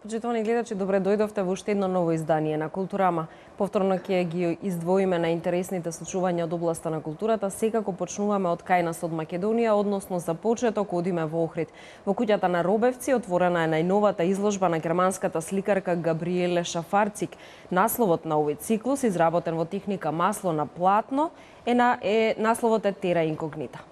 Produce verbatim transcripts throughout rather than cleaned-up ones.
Почитувани гледачи, добре дојдовте во уште едно ново издание на Културама. Повторно ќе ги издвоиме на интересните случувања од областа на културата. Секако почнуваме од кај нас од Македонија, односно за почеток одиме во Охрид. Во куќата на Робевци отворена е најновата изложба на германската сликарка Габриеле Шафарцик. Насловот на овој циклус, изработен во техника масло на платно, е, на, е насловот е Тера инкогнита.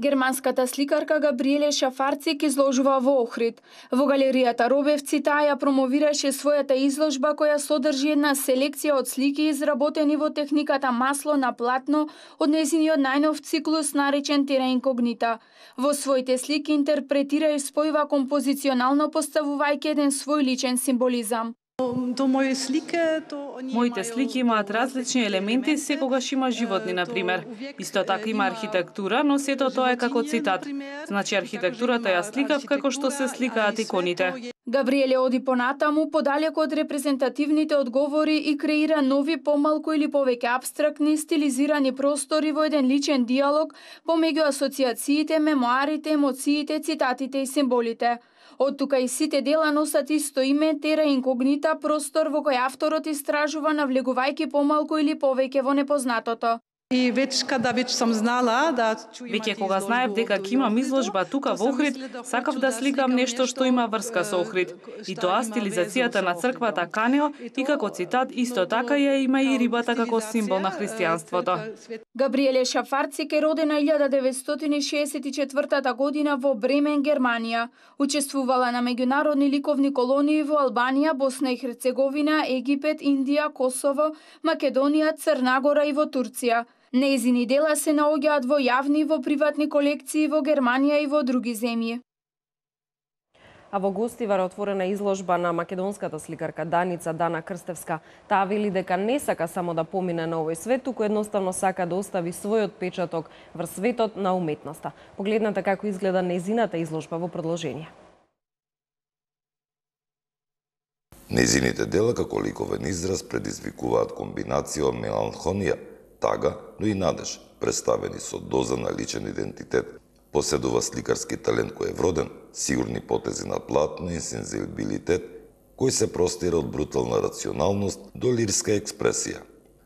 Германската сликарка Габриеле Шафарцик изложува во Охрид. Во галеријата Робевци таа ја промовираше својата изложба која содржи една селекција од слики изработени во техниката масло на платно од нејзиниот најнов циклус наречен Тера инкогнита. Во своите слики интерпретира и спојува композиционално поставувајќи еден свој личен символизам. Моите слики имаат различни елементи, секогаш има животни, например. Исто така има архитектура, но сето тоа е како цитат. Значи архитектурата ја сликав како што се сликаат иконите. Габриеле оди понатаму, подалеку од репрезентативните одговори и креира нови помалку или повеќе апстрактни, стилизирани простори во еден личен диалог помеѓу асоциациите, мемоарите, емоциите, цитатите и символите. Од тука и сите дела носат исто име Тера инкогнита, простор во кој авторот истражува навлегувајќи помалку или повеќе во непознатото. И веќе када веќе сум знала да Веќе кога знаев дека ќе имам изложба тука во Охрид, сакав да сликам нешто што има врска со Охрид. И тоа стилизацијата на црквата Канео и како цитат исто така ја има и рибата како символ на христијанството. Габриеле Шафарцик е родена илјада деветстотини шеесет и четвртата година во Бремен, Германија. Учествувала на меѓународни ликовни колонии во Албанија, Босна и Херцеговина, Египет, Индија, Косово, Македонија, Црна Гора и во Турција. Нејзини дела се наоѓаат во јавни и во приватни колекции во Германија и во други земји. А во Гостивар е отворена изложба на македонската сликарка Даница Дана Крстевска. Таа вели дека не сака само да помине на овој свет, туку едноставно сака да остави својот печаток врз светот на уметноста. Погледнете како изгледа нејзината изложба во продолжение. Нејзините дела како ликовен израз предизвикуваат комбинација од меланхонија, тага, но и надеж, представени со доза на личен идентитет. Поседува сликарски талент кој е вроден, сигурни потези на платно и сензибилитет, кој се простира од брутална рационалност до лирска експресија.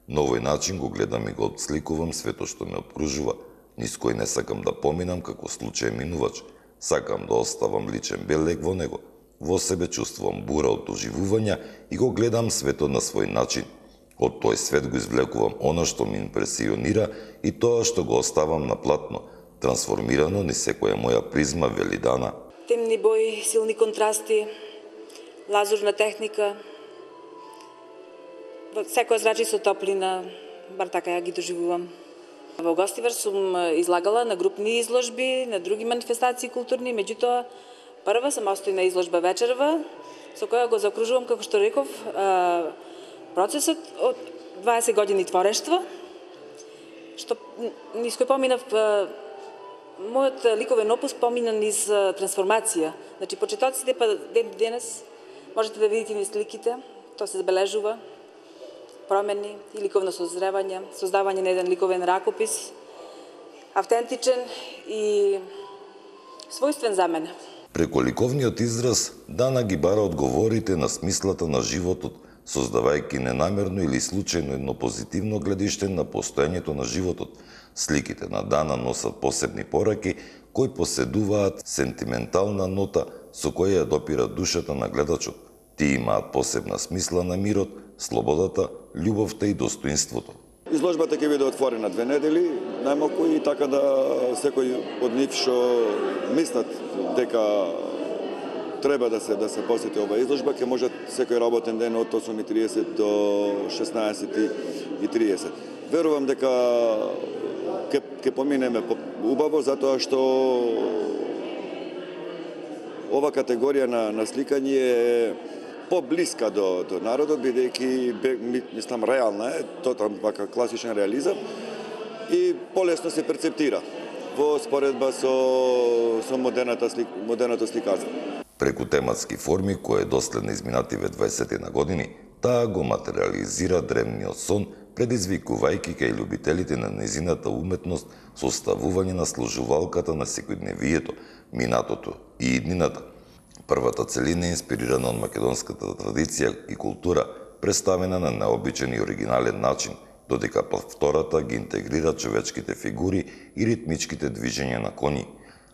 На овој начин го гледам и го отсликувам светот што ме обкружува, низ кој не сакам да поминам како случај минувач, сакам да оставам личен белег во него. Во себе чувствувам бура од доживувања и го гледам светот на свој начин. Од тој свет го извлекувам она што ми импресионира и тоа што го оставам на платно, трансформирано ни секоја моја призма, вели Дана. Темни бои, силни контрасти, лазурна техника, секоја зрачи со топлина, бар така ја ги доживувам. Во Гостивар сум излагала на групни изложби, на други манифестации културни, меѓутоа прва сам остои на изложба вечерва, со која го закружувам, како што реков, процесот од дваесет години творештво, што низ кој поминав, мојот ликовен опус помина низ трансформација. Значи, почетоците, па ден денес, можете да видите низ сликите, тоа се забележува, промени и ликовно созревање, создавање на еден ликовен ракопис, автентичен и својствен за мене. Преку ликовниот израз, Дана ги бара одговорите на смислата на животот, создавајќи ненамерно или случајно едно позитивно гледиште на постоењето на животот. Сликите на Дана носат посебни пораки кои поседуваат сентиментална нота со која ја допира душата на гледачот. Тие имаат посебна смисла на мирот, слободата, љубовта и достоинството. Изложбата ќе биде отворена две недели, најмалку, и така да секој од нив што мислат дека треба да се да се посети оваа изложба, ќе може секој работен ден од осум и триесет до шеснаесет и триесет. Верувам дека ќе ќе поминеме убаво, затоа што ова категорија на, на сликање е поблиска до, до народот, бидејќи мислам реална е, тоа вака класичен реализам и полесно се перцептира во споредба со, со модерната, слик, модерното сликарство. Преку тематски форми, кои доследно изминативе дваесет на години, таа го материализира древниот сон, предизвикувајќи кај љубителите на незината уметност составување на сложувалката на секојдневието, минатото и иднината. Првата целина е инспирирана од македонската традиција и култура, представена на необичен и оригинален начин, додека втората ги интегрира човечките фигури и ритмичките движења на коњи.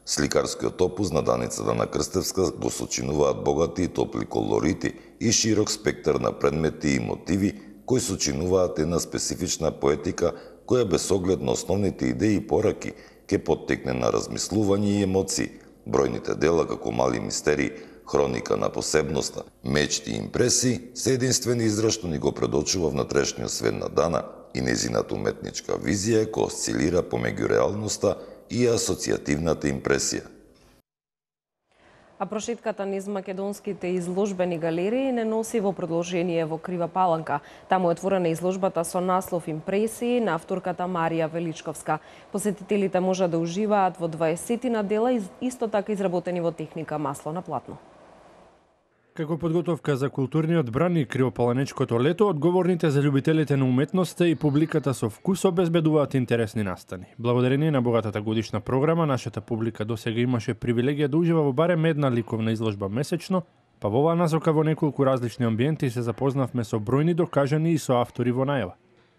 Сликарскиот опус на Даница Дана Крстевска го сочинуваат богати и топли колорити и широк спектар на предмети и мотиви, кои сочинуваат една специфична поетика, која без оглед на основните идеи и пораки ќе поттекне на размислување и емоции. Бројните дела, како мали мистерии, хроника на посебноста, мечти и импресии, се единствени израз што ни го предочува внатрешниот свет на Дана и незината уметничка визија која осцилира помеѓу реалноста и асоцијативната импресија. А прошетката низ македонските изложбени галерии не носи во продолжение во Крива Паланка. Таму е отворена изложбата со наслов Импресии на авторката Марија Величковска. Посетителите можат да уживаат во дваесет дела, исто така изработени во техника масло на платно. Како подготовка за културниот бран и кривопаланечкото лето, одговорните за љубителите на уметноста и публиката со вкус обезбедуваат интересни настани. Благодарение на богатата годишна програма, нашата публика досега имаше привилегија да ужива во барем една ликовна изложба месечно, па во оваа насока во неколку различни амбиенти се запознавме со бројни докажани и со автори во најава.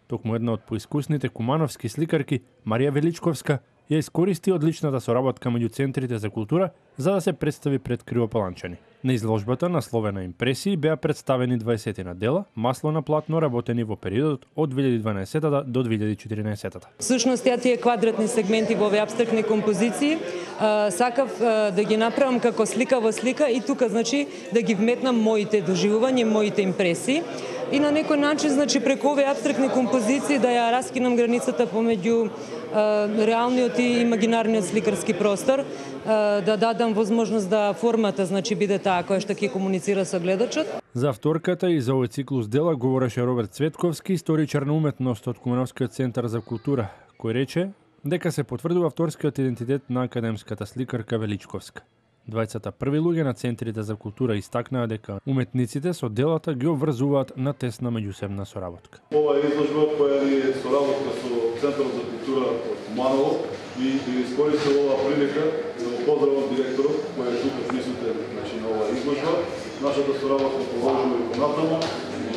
Токму една од поискусните кумановски сликарки, Марија Величковска, ја искористи одличната соработка меѓу центрите за култура за да се представи пред кривопаланчани. На изложбата насловена Импресии беа представени дваесет дела, масло на платно работени во периодот од две илјади и дванаесета до две илјади и четиринаесета. Всушност, ја тие квадратни сегменти во овие апстрактни композиции а, сакав а, да ги направам како слика во слика и тука, значи, да ги вметнам моите доживувања, моите импресии и на некој начин, значи, преку овие апстрактни композиции да ја раскинам границата помеѓу реалниот и имагинарниот сликарски простор, да дадам возможност да формата, значи, биде таа која што ќе комуницира со гледачот. За авторката и за овој циклус дела говореше Роберт Цветковски, историчар на уметност од Кумановскиот центар за култура, кој рече дека се потврдува авторскиот идентитет на академската сликарка Величковска. Двајцата први луѓе на центрите за култура истакнаа дека уметниците со делата ги обврзуваат на тесна меѓусебна соработка. Ова е изложба која е соработка со Центарот за култура од Куманово и да искористам оваа прилика да го поздравам директорот кој е тука присутен, значи, на оваа изложба. Нашата соработка продолжува и понатаму.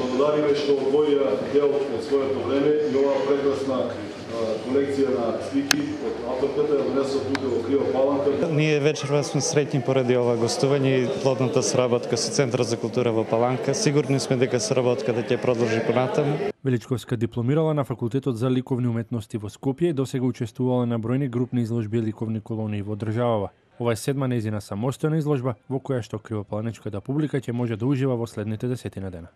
Благодариме што одвоија дел од своето време и оваа прекрасна колекција на слики од авторката ја донесува тука во Крива Паланка. Ние вечерва сме среќни поради ова гостување и плодната соработка со Центарот за култура во Паланка. Сигурни сме дека соработката ќе продолжи понатаму. Величковска дипломирала на Факултетот за ликовни уметности во Скопје и досега учествувала на бројни групни изложби и ликовни колонии во државава. Ова е седма нејзина самостојна изложба во која што кривопаланечката публика ќе може да ужива во следните десетина дена.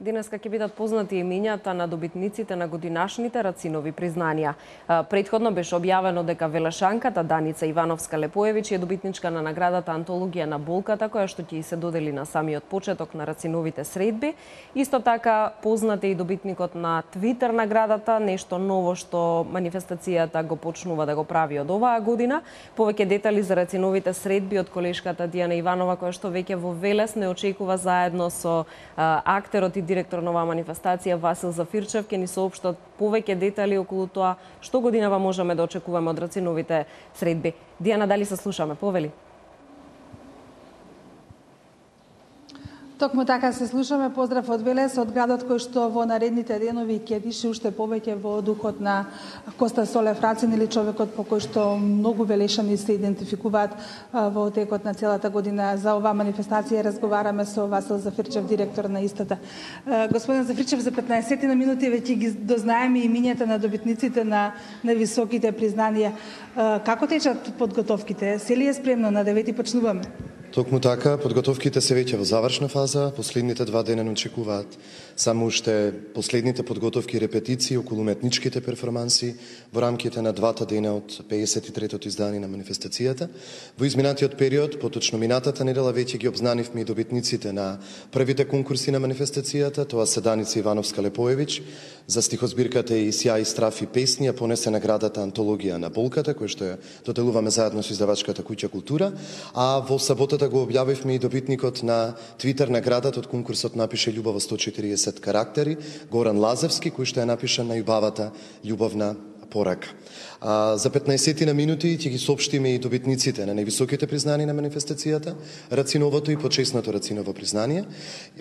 Денеска ќе бидат познати имињата на добитниците на годинашните Рацинови признанија. Претходно беше објавено дека велешанката Даница Ивановска Лепоевич е добитничка на наградата Антологија на болката, која што ќе се додели на самиот почеток на Рациновите средби. Исто така познат е и добитникот на Твитер наградата, нешто ново што манифестацијата го почнува да го прави од оваа година. Повеќе детали за Рациновите средби од колешката Дијана Иванова, која што веќе во Велес не очекува заедно со а, актерот и директор на оваа манифестација Васил Зафирчев ќе ни соопштат повеќе детали околу тоа што годинава можеме да очекуваме од Рациновите средби. Дијана, дали се слушаме? Повели. Токму така се слушаме поздрав од Велес, од градот кој што во наредните денови ќе дише уште повеќе во духот на Коста Солев Рацин, или човекот по кој што многу велешани се идентификуваат во текот на целата година. За оваа манифестација разговараме со Васил Зафирчев, директор на истата. Господин Зафирчев, за петнаесет на минути веќе ги дознаеме имињата на добитниците на највисоките признанија. Како течат подготовките? Се ли е спремно? На девети почнуваме? Токму така, подготовките се веќе во завршна фаза, последните два дена не очекуваат само уште последните подготовки и репетиции околу уметничките перформанси во рамките на двата дена од пеесет и третото издание на манифестацијата. Во изминатиот период, поточно минатата недела, веќе ги обзнанивме и добитниците на првите конкурси на манифестацијата, тоа се Даница Ивановска Лепоевич за стихозбирката и Сјај и страф и песни, а понесе наградата Антологија на болката, која што ја доделуваме заедно со издавачката куќа Култура, а во саботата го објавивме и добитникот на Твитер наградата од конкурсот Напише љубов во сто и четириесет карактери, Горан Лазевски, кој што ја напиша најубавата љубовна порака. А, за петнаесет на минути ќе ги соопштиме и добитниците на највисоките признанија на манифестацијата, Рациновото и почесното Рациново признание.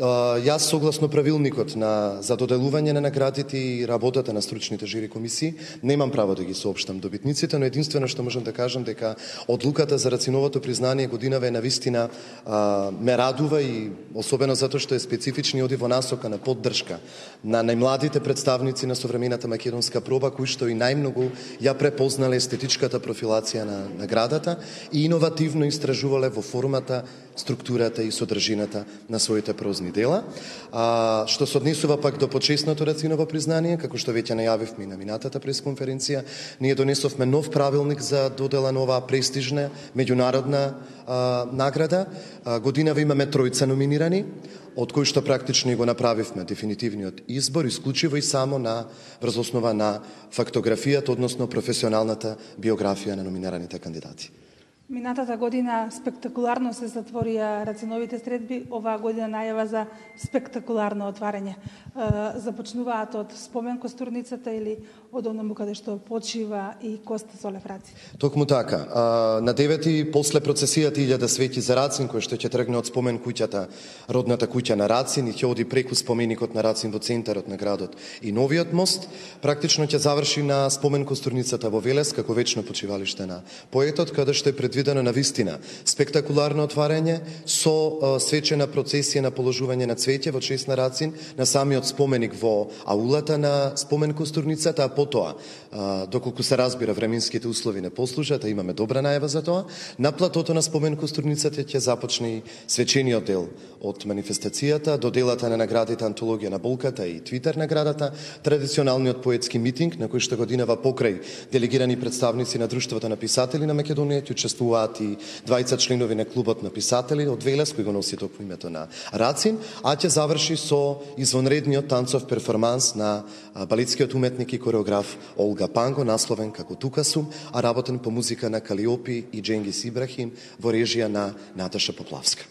А, јас согласно правилникот на за доделување на наградите и работата на стручните жири комисии немам право да ги соопштам добитниците, но единствено што можам да кажам дека одлуката за Рациновото признание годинава е навистина а, ме радува, и особено затоа што е специфични, оди во насока на поддршка на најмладите представници на современата македонска проба, кои што и најмногу ја препознале естетичката профилација на наградата и иновативно истражувале во формата, структурата и содржината на своите прозни дела. А, што се однесува пак до почесното Рациново признание, како што веќе најавивме на минатата пресконференција, ние донесовме нов правилник за додела на оваа престижна меѓународна а, награда. А, годинава имаме тројца номинирани, од кои што практично го направивме дефинитивниот избор, исклучиво и само на врз основа на фактографијата, односно професионалната биографија на номинираните кандидати. Минатата година спектакуларно се затворија Рациновите средби, оваа година најава за спектакуларно отварање. Започнуваат од спомен костурницата или од онаму каде што почива и Коста Солев Рацин? Токму така. На девети, после процесијата илјада свети за Рацин, која што ќе тргне од спомен куќата, родната куќа на Рацин, и ќе оди преку споменикот на Рацин во центарот на градот и новиот мост, практично ќе заврши на спомен костурницата во Велес, како вечно почивалиште на поетот, каде што е предвидено на вистина спектакуларно отварање со свечена процесија на положување на цвеќе во чест на Рацин на самиот споменик во аулата на спомен костурницата, а потоа, доколку се разбира временските услови не послужат, а имаме добра најава за тоа, на платото на спомен костурницата ќе започне и свечениот дел од манифестацијата, до делата на наградите Антологија на болката и Твитер наградата, традиционалниот поетски митинг на кој што годинава покрај делегирани представници на Друштвото на писатели на Македонија ќе учествуваат и двајца членови на клубот на писатели од Велес, кој го носи токму името на Рацин, а ќе заврши со извонредниот танцов перформанс на балетскиот уметник и кореограф Олга Панго, насловен како Тука сум, а работен по музика на Калиопи и Дженгис Ибрахим во режија на Наташа Поплавска.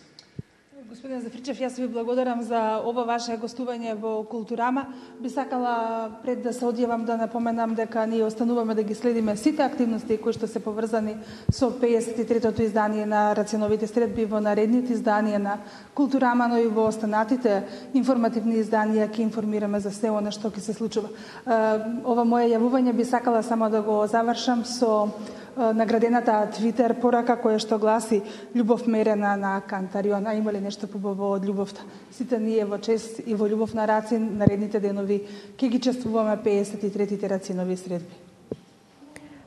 Господин Зафирчев, јас ви благодарам за ова ваше гостување во Културама. Би сакала пред да се одјавам да напоменам дека ние остануваме да ги следиме сите активности кои што се поврзани со пеесет и третото издание на Рациновите средби во наредните изданија на Културама, но и во останатите информативни изданија ќе информираме за се она што ќе се случува. Ова моје јавување би сакала само да го завршам со наградената Твитер порака која што гласи љубов мерена на Кантарион. А има ли нешто побаво од љубовта? Сите ние во чест и во љубов на Рацин наредните денови ќе ги чествуваме пеесет и третите Рацинови средби.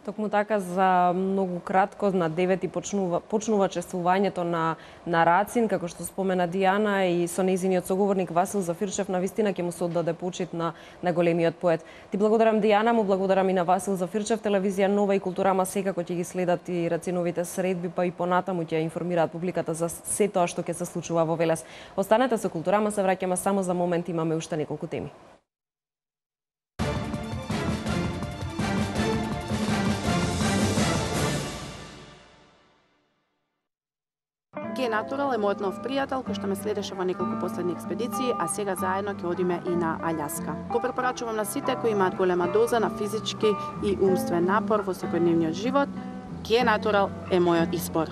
Токму така, за многу кратко, на девети почнува, почнува чествувањето на, на Рацин, како што спомена Дијана, и со нејзиниот соговорник Васил Зафирчев, на вистина ќе му се оддаде почит на, на големиот поет. Ти благодарам, Дијана, му благодарам и на Васил Зафирчев. Телевизија Нова и Културама секако ќе ги следат и Рациновите средби, па и понатаму ќе информираат публиката за се тоа што ќе се случува во Велес. Останете со Културама, се враќаме само за момент, имаме уште неколку теми. Генатурал е мојот нов пријател кој што ме следеше во неколку последни експедиции, а сега заедно ќе одиме и на Аљаска. Го препорачувам на сите кои имаат голема доза на физички и умствен напор во секојдневниот живот. Генатурал е мојот избор.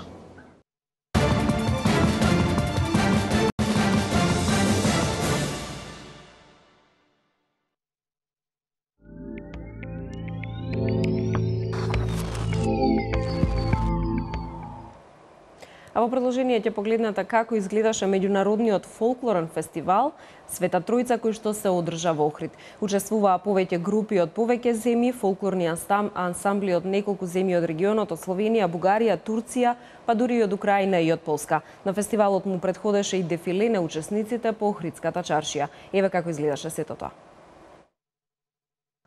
А во продолжение ќе погледнете како изгледаше меѓународниот фолклорен фестивал Света Тројца кој што се одржа во Охрид. Учествуваа повеќе групи од повеќе земји, фолклорни ансамбли од неколку земји од регионот, од Словенија, Бугарија, Турција, па дури и од Украина и од Полска. На фестивалот му претходеше и дефиле на учесниците по Охридската чаршија. Еве како изгледаше сето тоа.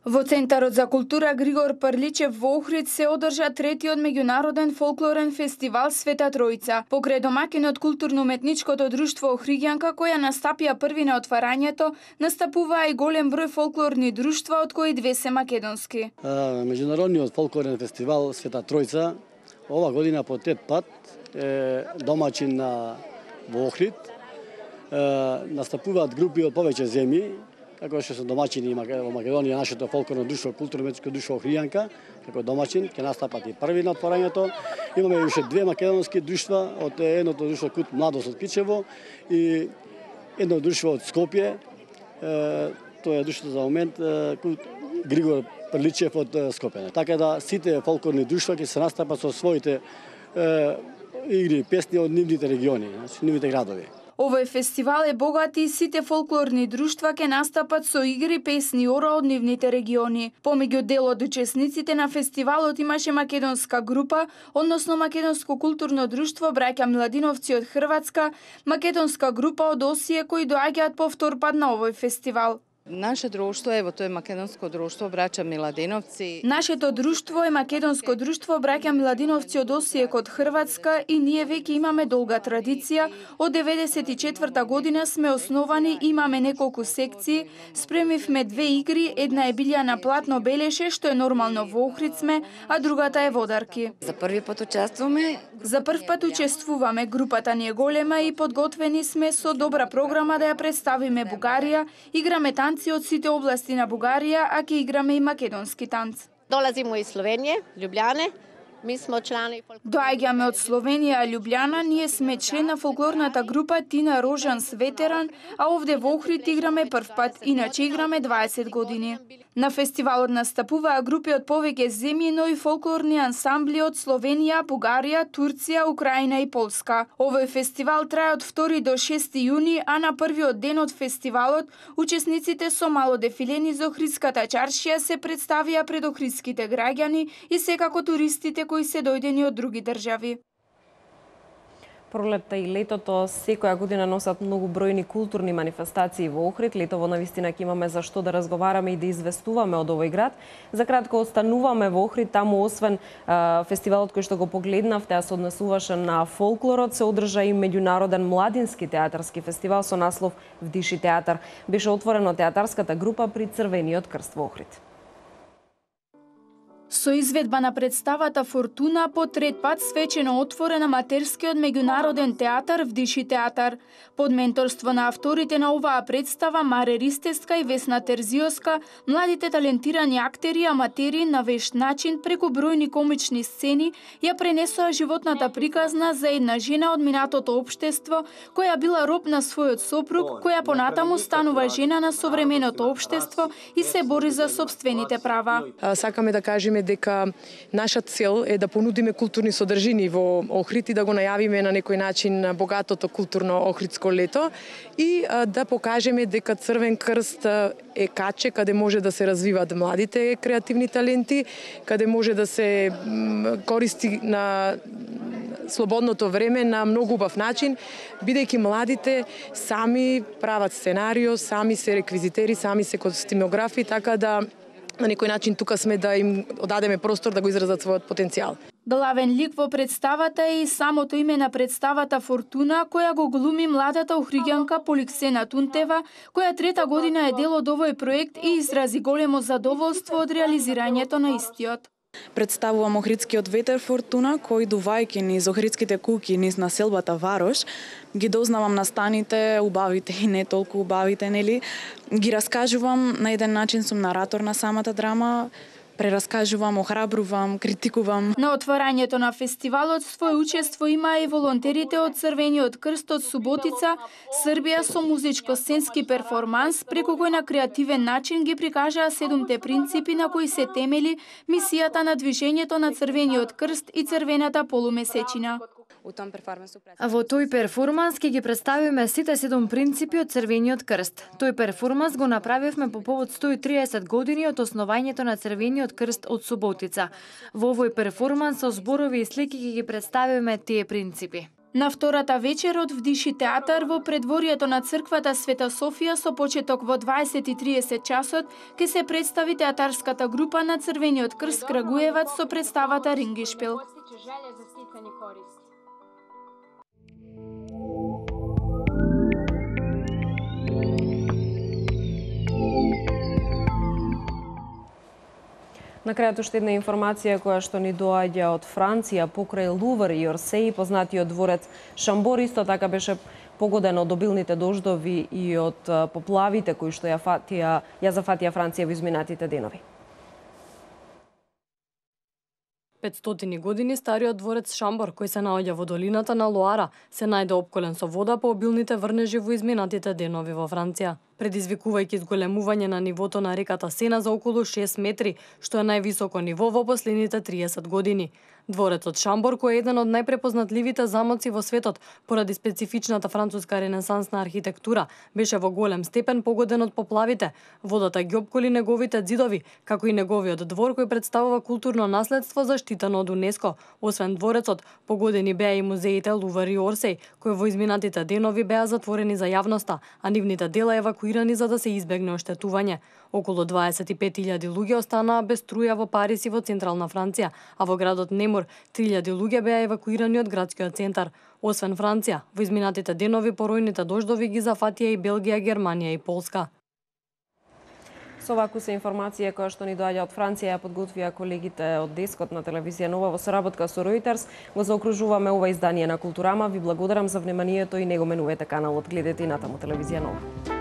Во Центарот за култура Григор Прличев во Охрид се одржа третиот меѓународен фолклорен фестивал Света Тројца. Покрај домакинот културно-уметничкото друштво Охриѓанка, која настапија први на отварањето, настапуваа и голем број фолклорни друштва, од кои две се македонски. Меѓународниот фолклорен фестивал Света Тројца ова година по тет пат е домачин на во Охрид. Настапуваат групи од повеќе земји, како што се домаќини во Македонија, нашето фолклорно друштво, културно-уметничко друштво Охриѓанка, како домаќин, ќе настапат и први на отворањето. Имаме уште две македонски друштва, од едното друштво Кут Младост од Кичево и едно друштво од Скопје. Тоа е друштво за момент Григор Прличев од Скопје. Така да сите фолклорни друштва ќе се настапат со своите игри, песни од нивните региони, значи нивните градови. Овој фестивал е богат и сите фолклорни друштва ќе настапат со игри, песни и ора од нивните региони. Помеѓу дел од учесниците на фестивалот имаше македонска група, односно македонско културно друштво браќа Миладиновци од Хрватска, македонска група од Осије кои доаѓаат по втор пат на овој фестивал. Наше друштво, ево, тоа е македонско друштво браќа Миладиновци. Нашето друштво е македонско друштво браќа Миладиновци од Осијек од Хрватска и ние веќе имаме долга традиција. Од деветдесет и четврта година сме основани, имаме неколку секции, спремивме две игри, една е Билјана Платно Белеше, што е нормално во Охрид сме, а другата е Водарки. За први пат учествуваме. За прв пат учествуваме, групата ни е голема и подготвени сме со добра програма да ја представиме Бугарија, играме танци од сите области на Бугарија, а ќе играме и македонски танц. Долазимо из Словенија, Љубљане. Ми сме члани. Доаѓаме од Словенија, Љубљана, ние сме член на фолклорната група Тина Рожанс Ветеран, а овде во Охрид играме прв пат, иначе играме дваесет години. На фестивалот настапуваа групи од повеќе земји, но и фолклорни ансамбли од Словенија, Бугарија, Турција, Украина и Полска. Овој фестивал трае од втори до шести јуни, а на првиот ден од фестивалот учесниците со мало дефилени за Охридската чаршија се представија пред охридските граѓани и секако туристите кои се дојдени од други држави. Пролетта и летото секоја година носат многу бројни културни манифестации во Охрид. Летово навистина ќе имаме за што да разговараме и да известуваме од овој град. За кратко остануваме во Охрид, таму освен а, фестивалот кој што го погледнавте, а се однесуваше на фолклорот, се одржа и меѓународен младински театарски фестивал со наслов Вдиши театар. Беше отворено театарската група при Црвениот крст во Охрид. Со изведба на представата Фортуна по трет пат свечено отворен аматерскиот меѓународен театар Вдиши театар. Под менторство на авторите на оваа представа Маре Ристеска и Весна Терзиоска, младите талентирани актери и аматери на вешт начин преку бројни комични сцени ја пренесоа животната приказна за една жена од минатото општество која била роб на својот сопруг, која понатаму станува жена на современото општество и се бори за сопствените права. Сакаме да кажеме дека наша цел е да понудиме културни содржини во Охрид и да го најавиме на некој начин богатото културно охридско лето и да покажеме дека Црвен крст е каче каде може да се развиваат младите креативни таленти, каде може да се користи на слободното време на многу убав начин, бидејќи младите сами прават сценарио, сами се реквизитери, сами се костимографи, така да на некој начин тука сме да им одадеме простор да го изразат својот потенцијал. Главен лик во представата е и самото име на представата Фортуна, која го глуми младата охриѓанка Поликсена Тунтева, која трета година е дел од овој проект и изрази големо задоволство од реализирањето на истиот. Представувам охридскиот ветер Фортуна, кој дувајќи низ охридските куќи низ населбата Варош, ги дознавам настаните, убавите и не толку убавите, нели? Ги раскажувам, на еден начин сум наратор на самата драма, прераскажувам, охрабрувам, критикувам. На отварањето на фестивалот свој учество има и волонтерите од Црвениот крст од Суботица, Србија со музичко-сценски перформанс, преку кој на креативен начин ги прикажаа седумте принципи на кои се темели мисијата на движењето на Црвениот крст и Црвената полумесечина. Во тој перформанс ќе ги представиме сите седум принципи од Црвениот крст. Тој перформанс го направивме по повод сто и триесет години од основањето на Црвениот крст од Суботица. Во овој перформанс со зборови и слики ќе ги представиме тие принципи. На втората вечер од Вдиши театар во предворието на црквата Света Софија со почеток во дваесет и тридесет часот ќе се представи театарската група на Црвениот крст Крагуевац со представата Рингишпил. На крајот уште една информација која што ни доаѓа од Франција покрај Лувр и Орсеј, познатиот дворец Шамбор исто така беше погоден од обилните дождови и од поплавите кои што ја фатија, ја зафатија Франција во изминатите денови. петстотини години стариот дворец Шамбор, кој се наоѓа во долината на Лоара, се најде опколен со вода по обилните врнежи во изминатите денови во Франција, предизвикувајќи зголемување на нивото на реката Сена за околу шест метри, што е највисоко ниво во последните триесет години. Дворецот Шамбор, кој е еден од најпрепознатливите замоци во светот поради специфичната француска ренесансна архитектура, беше во голем степен погоден од поплавите. Водата ги опколи неговите ѕидови, како и неговиот двор кој представува културно наследство заштитено од УНЕСКО. Освен дворецот, погодени беа и музеите Лувр и Орсеј, кои во изминатите денови беа затворени за јавноста, а нивните дела евакуирани за да се избегне оштетување. Околу дваесет и пет илјади луѓе останаа без струја во Париз и во централна Франција, а во градот Немур три илјади луѓе беа евакуирани од градскиот центар. Освен Франција, во изминатите денови поројните дождови ги зафатија и Белгија, Германија и Полска. Со ваку се информација која што ни доаѓа од Франција ја подготвија колегите од Дескот на телевизија Нова во соработка со Reuters. Го заокружуваме ова издание на Културама. Ви благодарам за вниманието и не го менувате каналот. Гледате и натаму телевизија Нова.